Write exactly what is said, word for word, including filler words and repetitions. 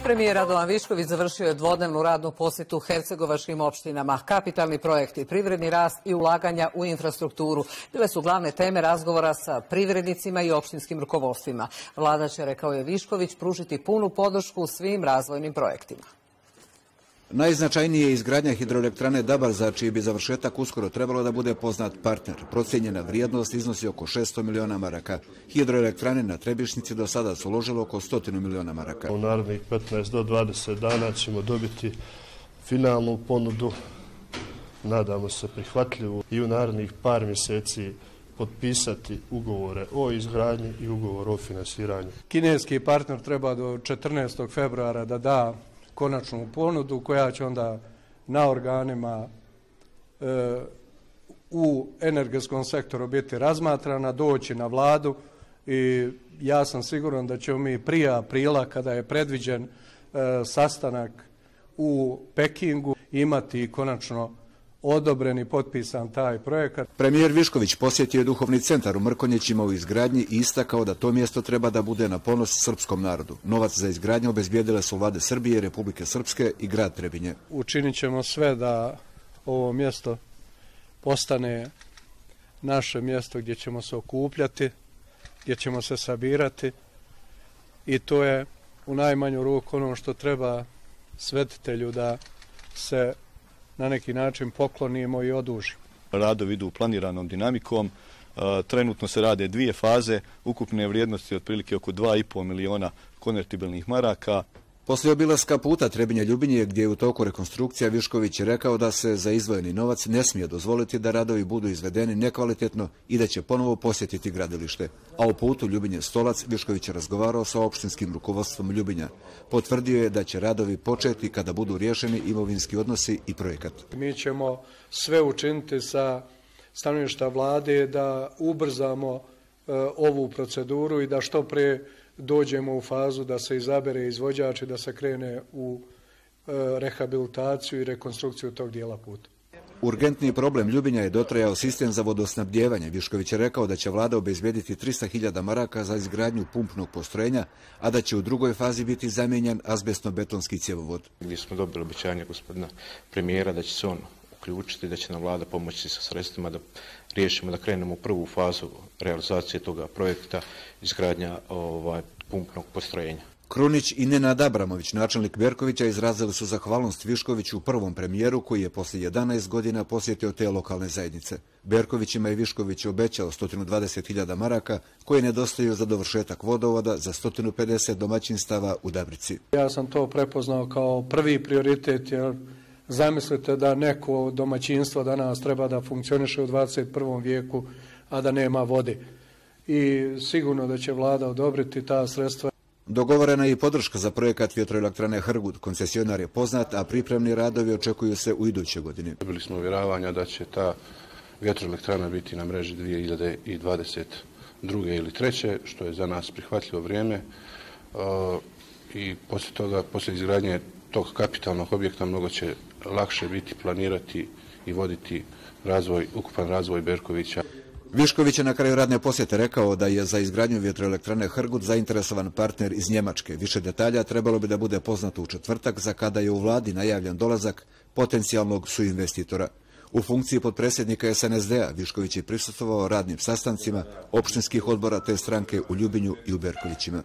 Premijer Radovan Višković završio je dvodnevnu radnu posjetu hercegovačkim opštinama. Kapitalni projekti, privredni rast i ulaganja u infrastrukturu bile su glavne teme razgovora sa privrednicima i opštinskim rukovodstvima. Vlada će, rekao je Višković, pružiti punu podršku svim razvojnim projektima. Najznačajnije je izgradnja hidroelektrane Dabar, za čiji bi završetak uskoro trebalo da bude poznat partner. Procijenjena vrijednost iznosi oko šesto miliona maraka. Hidroelektrane na Trebišnjici do sada su uložilo oko stotinu miliona maraka. U narednih petnaest do dvadeset dana ćemo dobiti finalnu ponudu, nadamo se prihvatljivu, i u narednih par mjeseci potpisati ugovore o izgradnji i ugovor o finansiranju. Kineski partner treba do četrnaestog februara da da konačnu ponudu koja će onda na organima e, u energetskom sektoru biti razmatrana, doći na vladu i ja sam siguran da ćemo mi prije aprila, kada je predviđen e, sastanak u Pekingu, imati konačno odobren i potpisan taj projekat. Premijer Višković posjetio je duhovni centar u Mrkonjićima u izgradnji i istakao da to mjesto treba da bude na ponos srpskom narodu. Novac za izgradnju obezbijedile su vlade Srbije, Republike Srpske i grad Trebinje. Učinit ćemo sve da ovo mjesto postane naše mjesto gdje ćemo se okupljati, gdje ćemo se sabirati, i to je u najmanju ruku ono što treba svetitelju, da se na neki način poklonimo i odužimo. Radovi idu planiranom dinamikom. Trenutno se rade dvije faze, ukupne vrijednosti otprilike oko dva i pol miliona konvertibilnih maraka. Poslije obilaska puta Trebinje-Ljubinje, gdje je u toku rekonstrukcija, Višković je rekao da se za izdvojeni novac ne smije dozvoliti da radovi budu izvedeni nekvalitetno i da će ponovo posjetiti gradilište. A u putu Ljubinje-Stolac Višković je razgovarao sa opštinskim rukovodstvom Ljubinja. Potvrdio je da će radovi početi kada budu riješeni imovinski odnosi i projekat. Mi ćemo sve učiniti sa stanovišta vlade da ubrzamo e, ovu proceduru i da što pre dođemo u fazu da se izabere izvođač i da se krene u e, rehabilitaciju i rekonstrukciju tog dijela puta. Urgentni problem Ljubinja je dotrajao sistem za vodosnabdijevanje. Višković je rekao da će vlada obezbijediti trista hiljada maraka za izgradnju pumpnog postrojenja, a da će u drugoj fazi biti zamijenjen azbestno-betonski cjevovod. Gdje smo dobili obećanje gospodina premijera da će se on uključiti, da će nam vlada pomoći sa sredstvima da riješimo, da krenemo u prvu fazu realizacije toga projekta, izgradnja ovaj, pumpnog postrojenja. Krunić i Nenad Abramović, načelnik Berkovića, izrazili su zahvalnost Viškoviću u prvom premijeru koji je poslije jedanaest godina posjetio te lokalne zajednice. Berkovićima je Višković obećao sto dvadeset hiljada maraka koje nedostaju za dovršetak vodovoda za sto pedeset domaćinstava u Dabrici. Ja sam to prepoznao kao prvi prioritet, jer zamislite da neko domaćinstvo danas treba da funkcioniše u dvadeset prvom vijeku, a da nema vode. I sigurno da će vlada odobriti ta sredstva. Dogovorena je i podrška za projekat vjetroelektrane Hrgut. Koncesionar je poznat, a pripremni radovi očekuju se u idućoj godini. Dobili smo uvjeravanja da će ta vjetroelektrana biti na mreži dvije hiljade dvadeset druge ili treće, što je za nas prihvatljivo vrijeme. I poslije toga, poslije izgradnje tog kapitalnog objekta, mnogo će lakše biti planirati i voditi razvoj, ukupan razvoj Berkovića. Višković je na kraju radne posjete rekao da je za izgradnju vjetroelektrane Hrgut zainteresovan partner iz Njemačke. Više detalja trebalo bi da bude poznato u četvrtak, za kada je u vladi najavljen dolazak potencijalnog suinvestitora. U funkciji potpredsjednika es en es de a Višković je prisustvovao radnim sastancima opštinskih odbora te stranke u Ljubinju i u Berkovićima.